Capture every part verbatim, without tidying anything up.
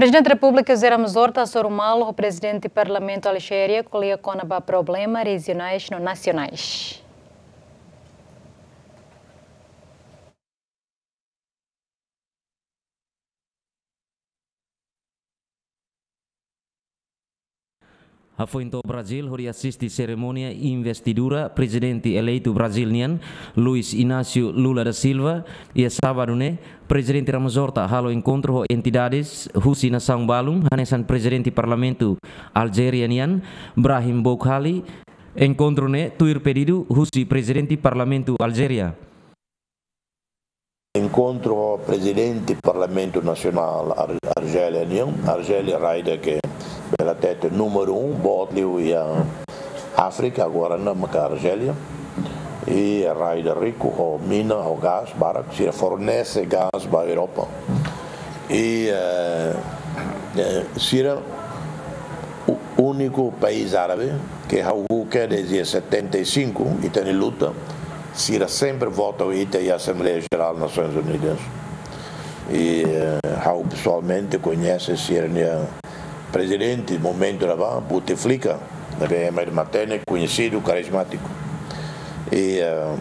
Prezidente Repúblika José Ramos Horta hasoru malu ho Prezidente Parlamentu Arjélia ko'alia kona-ba problema rejionais no nasionais. Hafoin to'o Brazil hodi asiste serimónia investidura prezidente eleitu Brazil nian, Luiz Inácio Lula da Silva, iha sábadu ne'e, Prezidente Ramos Horta halo enkontru ho entidades husi nasaun balun, hanesan Prezidente Parlamentu Arjélia nian, Brahim Boukali. Enkontru ne'e tuir pedidu husi Prezidente Parlamentu Arjélia. Enkontru ho Prezidente Parlamentu Nasionál Ar-, Arjélia nian. Arjélia rai ida ke bele hatete númeru um, boot liu iha Áfrika, agora ne'e maka Arjélia. I rai ida riku ho mina, ho gás, barak, sira fornese gás ba Europa. I, eh, eh, sira u-, úniku país árabe ke ha'u uluk kedas desde setenta e cinco, ita-nia luta, sira sempre vota ita iha Asembleia Jerál Nasoins Unidas. I, eh, ha'u pesoalmente koñese sira-nia prezidente, momentu ne'ebá, Bouteflika, ne'ebé ema ida matenek, koñesidu, karizmátiku. I, eh,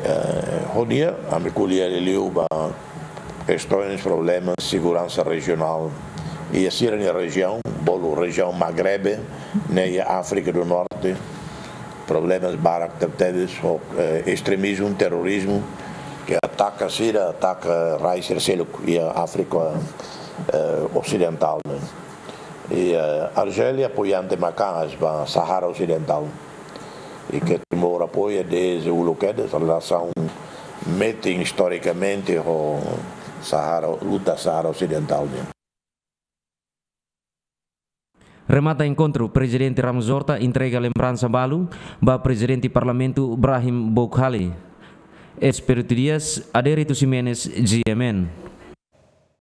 eh, ho nia, ami ko'alia liuliu ba kestaun, problema seguransa rejionál iha sira-nia rejiaun, bolu rejiaun Magrebe, ne'e iha Áfrika do Norte, problemas barak tebetebes ho, eh, estremismu, terrorizmu, ke ataka sira, ataka rai sira seluk iha Áfrika, eh, Osidentál, ne'e. I, eh, Arjélia apoiante maka'as ba Saara Osidentál. I ke Timor apoia desde uluk kedas, relasaun metin istorikamente ho Saara, luta Saara Osidentál nian. Remata enkontru, Prezidente Ramos Horta entrega lembransa balu ba Prezidente Parlamentu Brahim Boukali. Espíritu Dias, Adérito Ximenes, G M N.